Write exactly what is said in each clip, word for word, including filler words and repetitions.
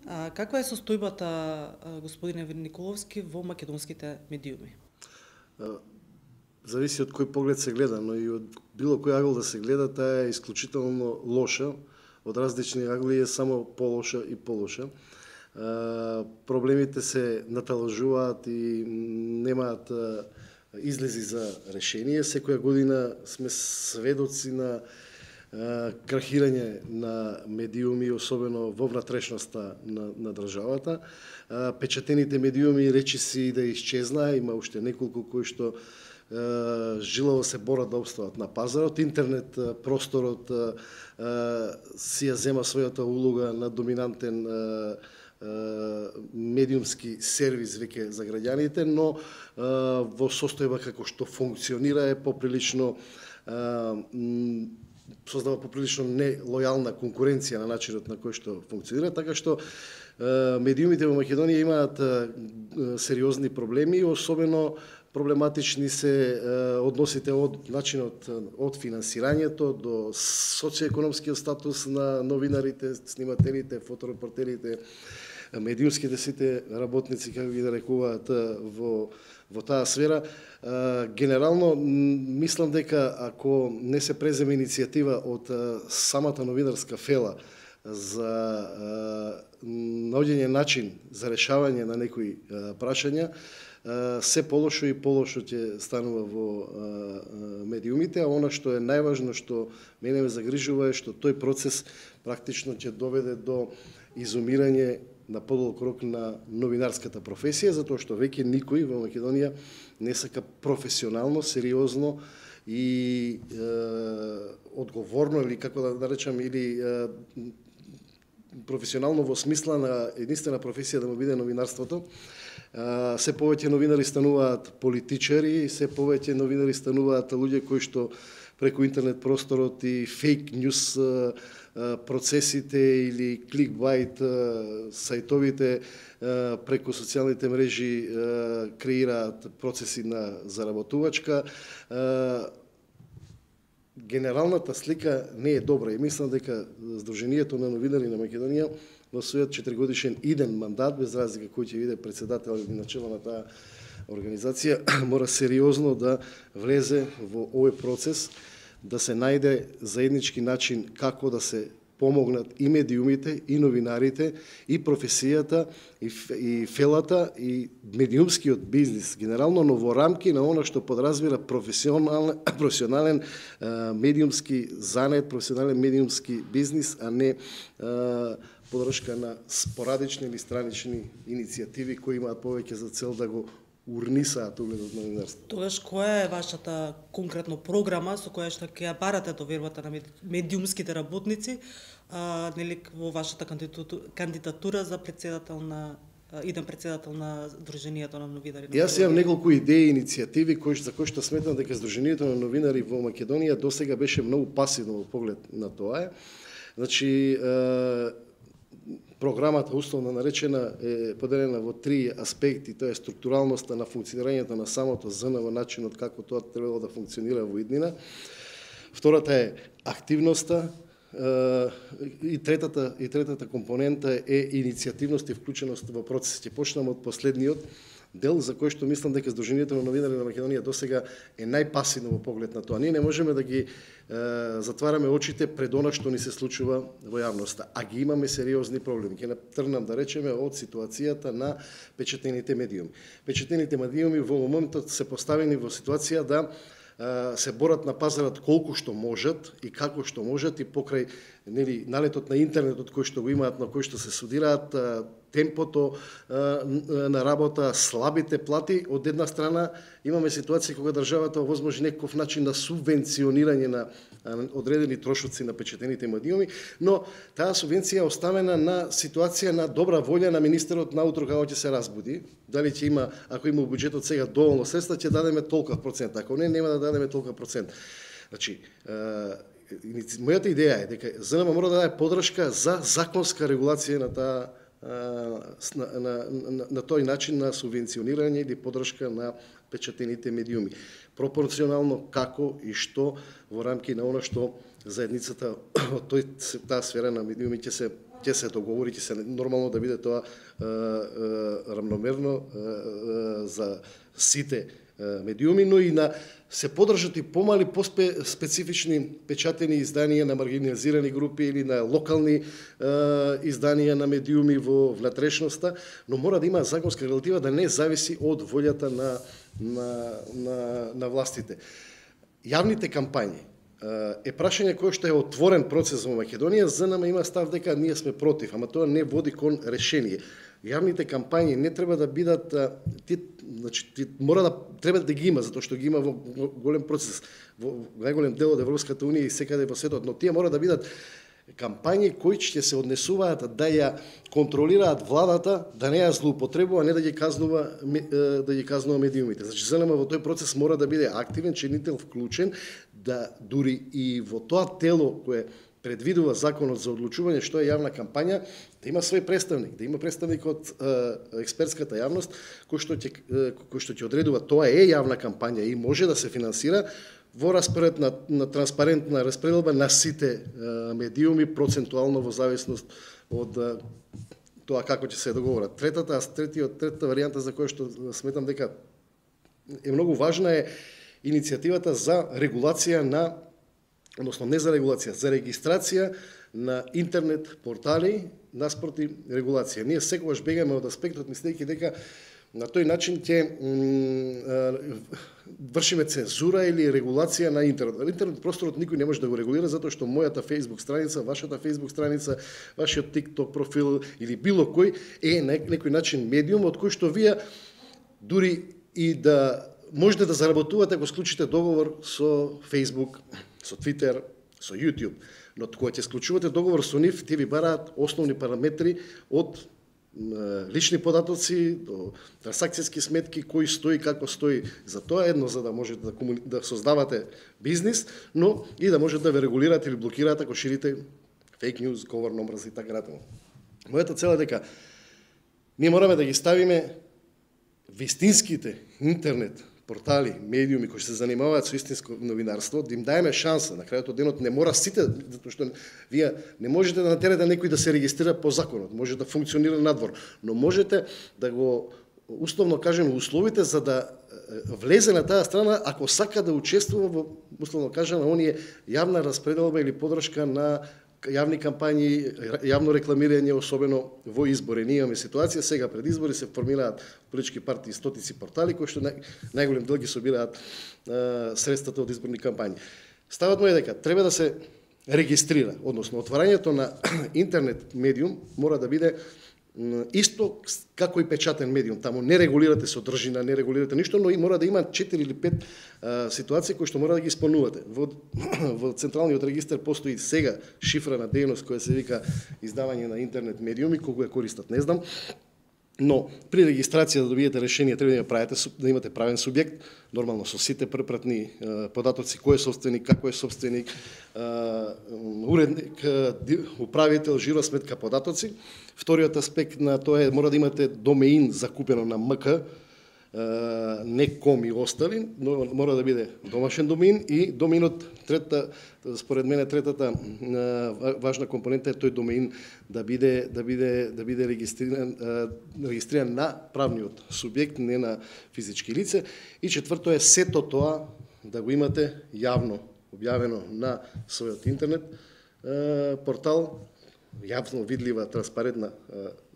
А, каква е состојбата, господине Николовски, во македонските медиуми? Зависи од кој поглед се гледа, но и од било кој агол да се гледа, таа е исклучително лоша. Од различни агли е само полоша и полоша. Проблемите се наталажуваат и немаат излези за решение. Секоја година сме сведоци на крахирање на медиуми, особено во внатрешноста на, на државата. Печатените медиуми речиси да исчезнаа, има уште неколку кои што жилаво се борат да обстават на пазарот. Интернет просторот си ја зема својата улога на доминантен медиумски сервис веќе за граѓаните, но во состојба како што функционира е поприлично создава поприлично нелојална конкуренција на начинот на кој што функционира, така што медиумите во Македонија имаат сериозни проблеми, особено проблематични се односите од начинот од финансирањето до социоекономскиот статус на новинарите, снимателите, фоторепортерите, медиумските сите работници, како ги нарекуваат во во таа сфера. Генерално мислам дека ако не се преземе иницијатива од самата новинарска фела за наоѓање начин за решавање на некои прашања, се полошо и полошо ќе станува во медиумите, а она што е најважно, што мене ме загрижува, е што тој процес практично ќе доведе до изумирање на подолг рок на новинарската професија, затоа што веќе никој во Македонија не сака професионално, сериозно и е, одговорно, или како да наречам, или е, професионално во смисла на единствена професија да му биде новинарството. Се повеќе новинари стануваат политичари, се повеќе новинари стануваат луѓе кои што преку интернет просторот и фейк ньюс процесите или кликбайт сајтовите преку социјалните мрежи креираат процеси на заработувачка. Генералната слика не е добра и мислам дека Сдруженијето на новинари на Македонија во својот четиригодишен иден мандат, без разлика кој ќе биде председател или начело на таа организација, мора сериозно да влезе во овој процес, да се најде заеднички начин како да се помогнат и медиумите, и новинарите, и професијата, и, и фелата, и медиумскиот бизнис, генерално, но во рамки на она што подразбира професионален, професионален а, медиумски занет, професионален медиумски бизнис, а не а, подршка на спорадични или странични иницијативи кои имаат повеќе за цел да го урнисаат угледот на новинарството. Тогаш која е вашата конкретно програма со која што ќе ја барате довербата на медиумските работници, а, нели во вашата кандидатура за председател на иден председател на Сдруженијето на новинари? Јас имам неколку идеи и иницијативи кои за кои што сметам дека Сдруженијето на новинари во Македонија досега беше многу пасивно во поглед на тоа. Значи, програмата, условно наречена, е поделена во три аспекти. Тоа е структуралноста на функционирањето на самото ЗН во начинот како тоа требало да функционира во иднина. Втората е активноста и третата и третата компонента е иницијативност и вклученост во процес. Ќе почнам од последниот дел за кој што мислам дека Сдруженијето на новинари на Македонија досега е најпасивно во поглед на тоа. Ние не можеме да ги е, затвараме очите пред она што ни се случува во јавноста, а ги имаме сериозни проблеми. Ќе тргнам да речеме од ситуацијата на печатените медиуми. Печатените медиуми во моментот се поставени во ситуација да се борат на пазарот колку што можат и како што можат, и покрај нели налетот на интернетот кој што го имаат, на кој што се судираат, темпото на работа, слабите плати. Од една страна имаме ситуација кога државата овозможи некој начин на субвенционирање на одредени трошоци на печатените медиуми, но таа субвенција е оставена на ситуација на добра волја на министерот наутро како ќе се разбуди. Дали ќе има, ако има во буџетот сега доволно средства, ќе дадеме толков процент, ако не, нема да дадеме толков процент. Значи, мојата идеја е дека ЗНМ мора да даде подршка за законска регулација на таа на, на, на, на тој начин на субвенционирање или подршка на печатените медиуми. Пропорционално како и што во рамки на она што заедницата од тој таа сфера на медиуми ќе се ќе се договори, ќе се нормално да биде тоа е, е, рамномерно е, е, за сите медиуми, но и на се подржат и помали поспецифични печатени изданија на маргинализирани групи или на локални е, изданија на медиуми во внатрешноста, но мора да има законска регулатива да не зависи од волјата на, на, на, на властите. Јавните кампањи е прашање кое што е отворен процес во Македонија, за нама има став дека ние сме против, ама тоа не води кон решение. Јавните кампањи не треба да бидат, ти, значи, ти мора да треба да ги има, затоа што ги има во голем процес, во најголем дел од Европската унија и секаде во светот, но тие мора да бидат кампањи кои ќе се однесуваат да ја контролираат владата, да не ја злоупотребува, не да ги казнува да ги казнува медиумите. Значи ЗНМ во тој процес мора да биде активен, чинител, вклучен, да дури и во тоа тело кое предвидува законот за одлучување што е јавна кампања, да има свој представник, да има представник од е, експертската јавност кој што ќе кој што ќе одредува тоа е јавна кампања и може да се финансира во распоред на, на транспарентна распределба на сите е, медиуми процентуално во зависност од е, тоа како ќе се договорат. Третата, третиот, третата варијанта за која што сметам дека е многу важна е иницијативата за регулација на, односно не за регулација, за регистрација на интернет портали наспроти регулација. Ние секогаш бегаме од аспектот мислејќи дека на тој начин ќе вршиме цензура или регулација на интернет. Интернет просторот никој не може да го регулира затоа што мојата Facebook страница, вашата Facebook страница, вашиот TikTok профил или било кој е на некој начин медиум од кој што вие дури и да можете да заработувате ако склучите договор со Facebook, со Twitter, со YouTube. Но кога ќе склучувате договор со нив, тие ви бараат основни параметри од лични податоци до трансакцијски сметки, кој стои, како стои. За тоа едно за да можете да, комуни... да создавате бизнис, но и да можете да ве регулираат или блокираат ако ширите фейк ньюс, говор на омраза и така натаму. Мојата цел е дека ние мораме да ги ставиме вистинските интернет портали, медиуми кои се занимаваат со истинско новинарство, да им даеме шанса. На крајот од денот не мора сите, затоа што вие не можете да натерате некој да се регистрира по законот, може да функционира надвор, но можете да го условно кажеме условите за да влезе на таа страна ако сака да учествува во условно кажеме оние јавна распределба или подршка на јавни кампањи, јавно рекламирање, особено во избори. Ние имаме ситуација, сега пред избори се формираат политички партии стотици портали, кои што нај, најголем дел ги собираат е, средствата од изборни кампањи. Ставот му е дека треба да се регистрира, односно отварањето на интернет медиум мора да биде исто како и печатен медиум. Таму не регулирате содржина, не регулирате ништо, но и мора да има четири или пет а, ситуации кои што мора да ги исполнувате. Во, во централниот регистар постои сега шифрана дејност која се вика издавање на интернет медиуми, колку ја користат не знам. Но при регистрација да добиете решение треба да правите да имате правен субјект, нормално со сите препратни е, податоци, кој е собственик, како е собственик, е, уредник, е, управител, жиросметка, податоци. Вториот аспект на тоа е мора да имате домеин закупено на МК, е, не ком и остали, но мора да биде домашен домеин и домеинот трета според мене третата важна компонента е тој домеин да биде да биде да биде регистриран регистриран на правниот субјект, не на физички лице, и четврто е сето тоа да го имате јавно објавено на својот интернет портал, јавно видлива, транспарентна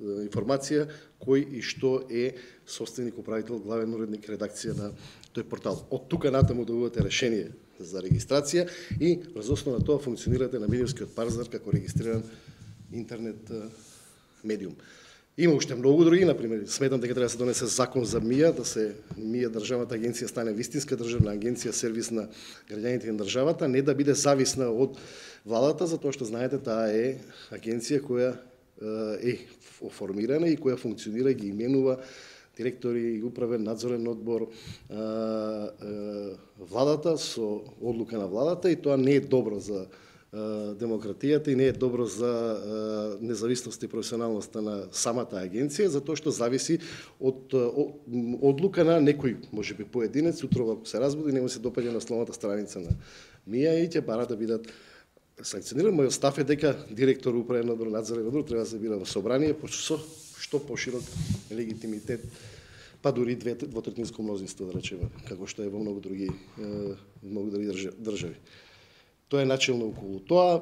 информација кој и што е собственик, управител, главен уредник, редакција на тој портал. Од тука натаму добивате решение за регистрација и врз основа на тоа функционирате на медиумскиот пазар како регистриран интернет медиум. Има уште многу други, например, сметам дека треба да се донесе закон за МИА, да се МИА државната агенција стане вистинска државна агенција, сервис на граѓаните на државата, не да биде зависна од владата, затоа што знаете таа е агенција која е оформирана и која функционира и ги именува директори и управен надзорен одбор владата со одлука на владата, и тоа не е добро за демократијата и не е добро за независност и професионалноста на самата агенција, затоа што зависи од одлука на некој, можеби поединец, утро ако се разбуди, нему се допаѓа на словната страница на МИА и ќе бара да бидат санкциониран, мојот став е дека директор управен одбор, надзорен одбор треба да се бира во собрание со што поширок легитимитет, па дури двотретинско мнозинство, да речеме, како што е во многу други многу други држави. Тоа е начелно околу тоа.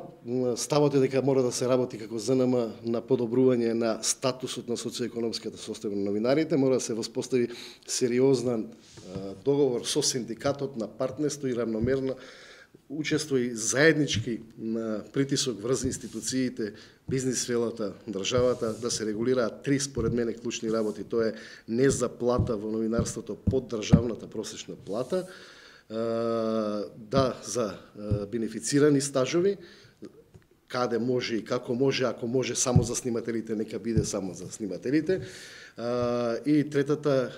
Ставот е дека мора да се работи како ЗНМ на подобрување на статусот на социоекономската состојба на новинарите, мора да се воспостави сериозен договор со синдикатот на партнерство и равномерно учество и заеднички на притисок врз институциите, бизнис сферата, државата, да се регулираат три, според мене, клучни работи. Тоа е не заплата во новинарството под државната просечна плата, да за бенефицирани стажови, каде може и како може, ако може само за снимателите, нека биде само за снимателите. И третата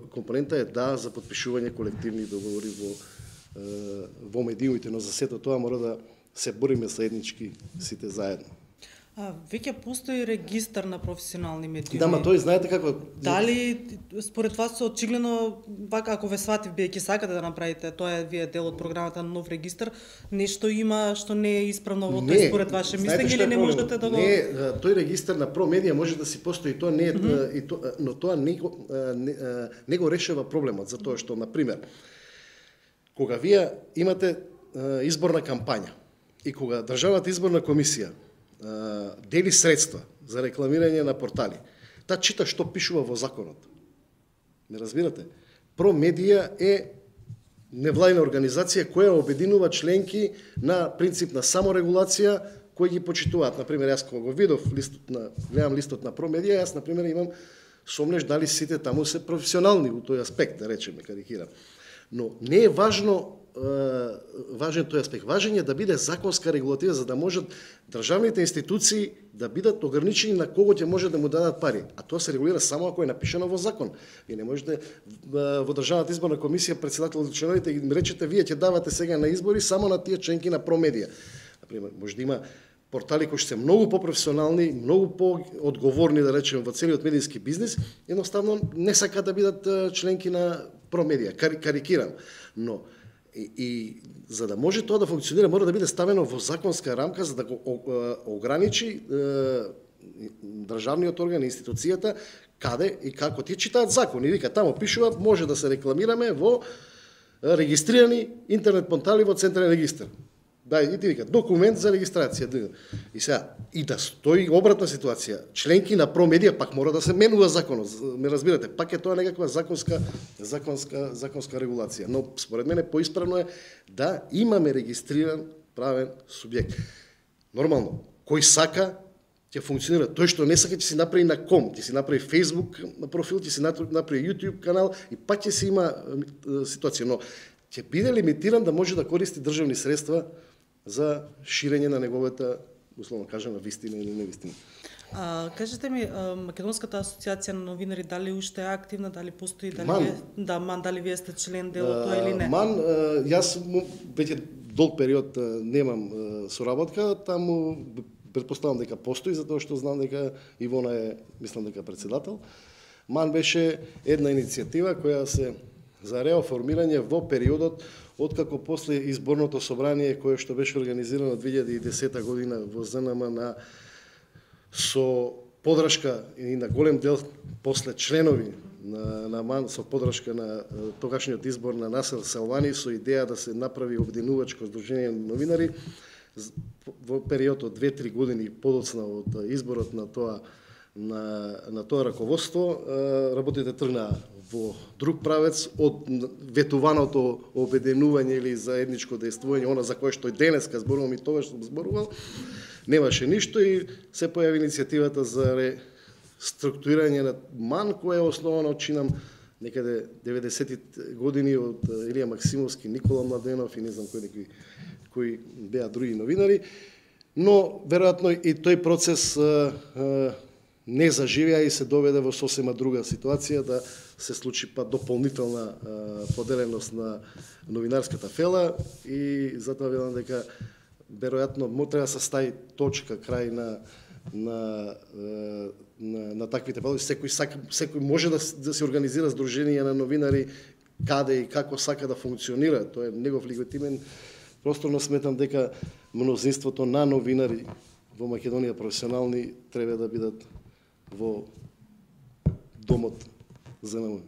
компонента е да за подпишување колективни договори во во медиумите, но за сето тоа мора да се бориме заеднички сите заедно. А, веќе постои регистар на професионални медиуми. Да, ма тој знаете како... Дали според вас очигледно, пак ако ве сватив, биејќи сакате да направите, тоа е вие дел од програмата на нов регистар, нешто има што не е исправно во тој според ваше мислење или не можете да го... Не, тој регистар на Промедија може да си постои, тоа не е, mm -hmm. и то, но тоа не го, не, не го решава проблемот, затоа што, например, кога вие имате изборна кампања и кога државната изборна комисија дели средства за рекламирање на портали, таа чита што пишува во законот. Не разбирате? Промедија е невладина организација која обединува членки на принцип на саморегулација кои ги почитуваат. Например, јас кога го видов листот на гледам листот на Промедија, јас например имам сомнеш дали сите таму се професионални во тој аспект, да речеме, карикирам. Но не е важно важен тој аспект. Важен е да биде законска регулатива за да можат државните институции да бидат ограничени на кого ќе може да му дадат пари. А тоа се регулира само ако е напишано во закон. Вие не можете во државната изборна комисија председател и членовите им речете вие ќе давате сега на избори само на тие членки на Промедија. Например, може да има портали кои се многу по-професионални, многу по-одговорни, да речеме, во целиот медијски бизнис, едноставно не сакаат да бидат членки на Промедија. Кар, карикирам. Но И, и за да може тоа да функционира, мора да биде ставено во законска рамка за да го ограничи е, државниот орган, институцијата, каде и како ти читаат закон. И вика, тамо пишува, може да се рекламираме во регистрирани интернет портали во Централен регистар. Да, и ти вика, документ за регистрација. И сега, и да стои обратна ситуација. Членки на Промедија пак мора да се менува законот. Ме разбирате, пак е тоа некаква законска законска законска регулација. Но според мене поисправно е да имаме регистриран правен субјект. Нормално, кој сака ќе функционира. Тој што не сака ќе си направи на ком, ќе си направи Facebook профил, ќе си направи YouTube канал и пак ќе си има ситуација, но ќе биде лимитиран да може да користи државни средства за ширење на неговата, условно кажано, вистина или невистина. А, кажете ми, Македонската асоциација на новинари дали уште е активна, дали постои, дали МАН. вие, да, МАН, дали вие сте член дел од тоа или не? МАН, јас веќе долг период немам соработка, таму претпоставам дека постои, затоа што знам дека Ивона е, мислам дека председател. МАН беше една иницијатива која се за реоформирање во периодот откако после изборното собрание кое што беше организирано две илјади и десета година во ЗНМ на со подршка и на голем дел после членови на, на МАН со подршка на тогашниот избор на Насер Салвани со идеја да се направи обединувачко здружение на новинари во период од две-три години подоцна од изборот на тоа на, на тоа раководство, работите тргнаа во друг правец од ветуваното обединување или заедничко действување, она за кое што и денеска зборувам и тоа што зборувал, немаше ништо и се појави иницијативата за реструктурирање на МАН, која е основана, чинам, некаде деветдесетите години од Илија Максимовски, Никола Младенов и не знам кои некои кои беа други новинари, но веројатно и тој процес а, а, не заживеа и се доведе во сосема друга ситуација да се случи па дополнителна а, поделеност на новинарската фела и затоа велам дека веројатно мо треба да се стави точка крај на на на, на таквите палови. Секој сака, секој може да, да се организира здружение на новинари каде и како сака да функционира. Тоа е негов легитимен Просторно сметам дека мнозинството на новинари во Македонија професионални треба да бидат во домот ЗНМ.